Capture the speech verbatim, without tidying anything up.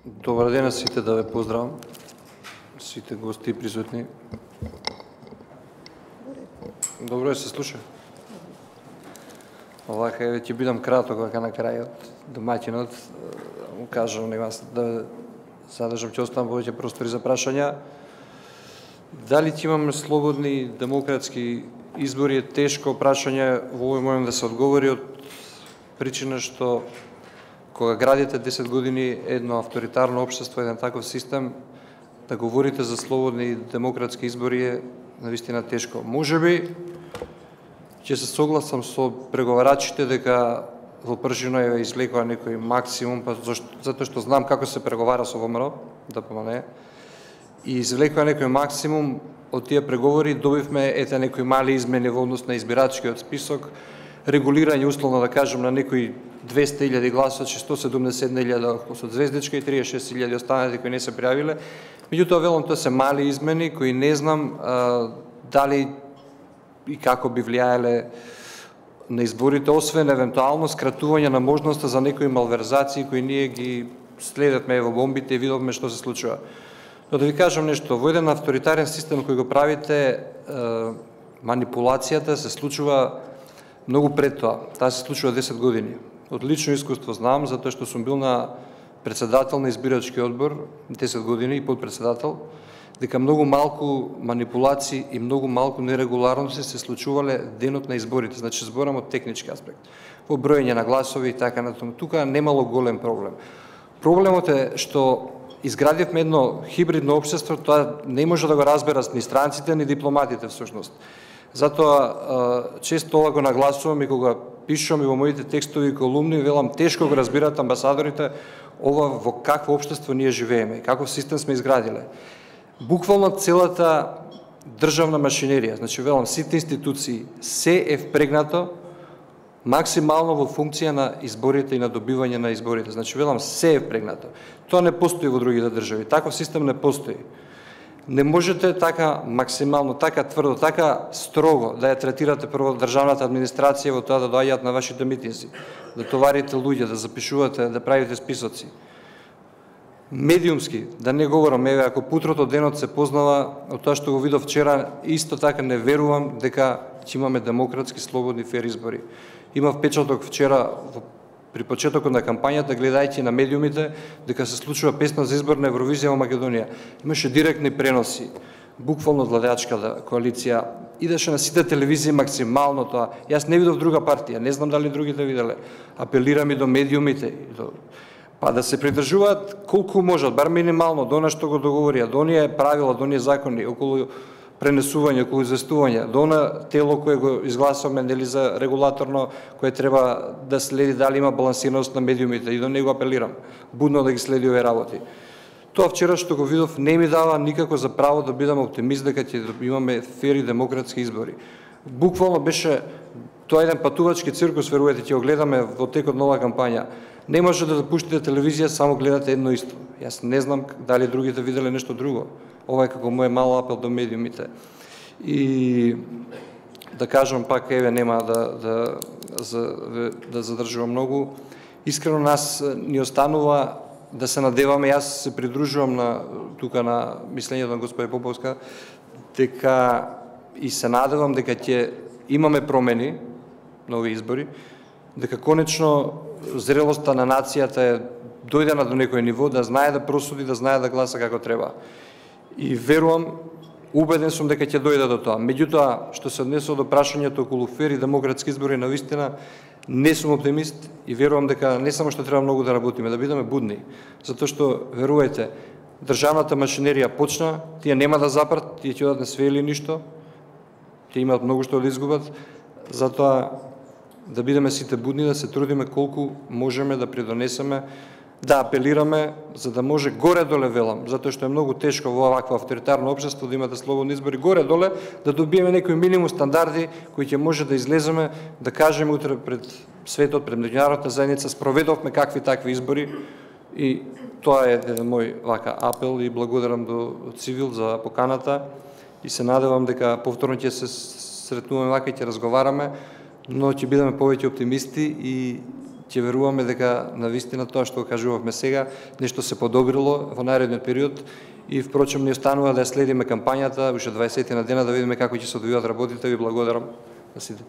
Добар ден на сите, да ве поздравам, сите гости и присутни. Добро е се слуша. Овака е, ќе бидам краток, вака на крајот, домаќинот, му кажам, нема да задржам, ќе оставам повеќе простори за прашања. Дали ќе имаме слободни демократски избори е тешко прашање, во овој момент да се одговори од причина што кога градите десет години едно авторитарно општество, еден таков систем, да говорите за слободни демократски избори е навистина тешко. Можеби ќе се согласам со преговарачите дека во пржино е извлекува некој максимум, па затоа што знам како се преговара со ВМРО, да помане, и извлекува некој максимум од тие преговори, добивме ете некои мали измени во однос на избирачкиот список, регулирање условно да кажем на некои двесте илјади гласачи, сто седумдесет илјади со звездичка и триесет и шест илјади останати кои не се пријавиле. Меѓутоа, велам, тоа се мали измени кои не знам а, дали и како би влијаеле на изборите, освен евентуално скратување на можноста за некои малверзации кои ние ги следевме во бомбите и видовме што се случува. Но да ви кажам нешто, во еден авторитарен систем кој го правите, а, манипулацијата се случува многу пред тоа. Таа се случува десет години. Од лично искуство знам, затоа што сум бил на председател на избирачки одбор десет години и подпредседател, дека многу малку манипулации и многу малку нерегуларности се случувале денот на изборите. Значи, зборам од технички аспект. Во броење на гласови и така натаму. Тука немало голем проблем. Проблемот е што изградивме едно хибридно општество, тоа не може да го разберат ни странците, ни дипломатите всушност. Затоа често ова го нагласувам и кога пишувам и во моите текстови и колумни, велам, тешко го разбират амбасадорите ова во какво општество ние живееме, каков систем сме изградиле. Буквално целата државна машинерија, значи велам, сите институции, се е впрегнато максимално во функција на изборите и на добивање на изборите. Значи велам, се е впрегнато. Тоа не постои во другите држави. Таков систем не постои. Не можете така максимално, така тврдо, така строго да ја третирате прво државната администрација во тоа да доаѓаат на вашите митинзи, да товарите луѓе, да запишувате, да правите списоци. Медиумски, да не говорам, еве, ако путрото денот се познава од тоа што го видов вчера, исто така не верувам дека ќе имаме демократски, слободни, фер избори. Има впечаток вчера при почетокот на кампањата, гледајќи на медиумите, дека се случува песна за избор на Евровизија во Македонија. Имаше директни преноси, буквално владеачката коалиција, идеше на сите телевизии максимално тоа. Јас не видов друга партија, не знам дали другите виделе. Апелирам и до медиумите, па да се придржуваат колку можат, бар минимално, до она што го договорија, до оние правила, до оние закони, околу пренесување, околу известување, до она тело кое го изгласуваме нели за регулаторно, кое треба да следи дали има балансираност на медиумите, и до него апелирам, будно да ги следи овие работи. Тоа вчера што го видов не ми дава никако за право да бидам оптимист дека ќе имаме фери демократски избори. Буквално беше тоа еден патувачки циркус, верувате, ќе го гледаме во текот на оваа кампања. Не може да пуштите телевизија, само гледате едно исто. Јас не знам дали другите виделе нешто друго. Ова е како мој мал апел до медиумите. И да кажам пак, еве, нема да, да, за, да задржувам многу. Искрено нас ни останува да се надеваме, јас се придружувам на, тука на мислењето на господја Поповска, дека и се надевам дека ќе имаме промени на овие избори, дека конечно зрелоста на нацијата е дојдена до некој ниво, да знае да просуди, да знае да гласа како треба. И верувам, убеден сум дека ќе дојде до тоа. Меѓутоа, што се однесува до прашањето околу фери демократски избори, навистина не сум оптимист и верувам дека не само што треба многу да работиме, да бидеме будни, затоа што, верувајте, државната машинерија почна, тие нема да запрат, тие ќе одат на све или ништо, тие имаат многу што да изгубат, затоа да бидеме сите будни, да се трудиме колку можеме да придонесеме, да апелираме, за да може горе-доле, велам, затоа што е многу тешко во овакво авторитарно општество да имате слободни избори, горе-доле да добиеме некои минимум стандарди кои ќе може да излеземе, да кажеме утре пред светот, пред меѓународната заедница, спроведовме какви такви избори, и тоа е еден мој вака апел и благодарам до Цивил за поканата и се надевам дека повторно ќе се сретнуваме вака и ќе разговараме, но ќе бидеме повеќе оптимисти и ќе веруваме дека навистина тоа што кажувавме сега, нешто се подобрило во наредниот период и впрочем не останува да ја следиме кампањата уште дваесет на дена да видиме како ќе се одвиваат работите. Ви благодарам на сите.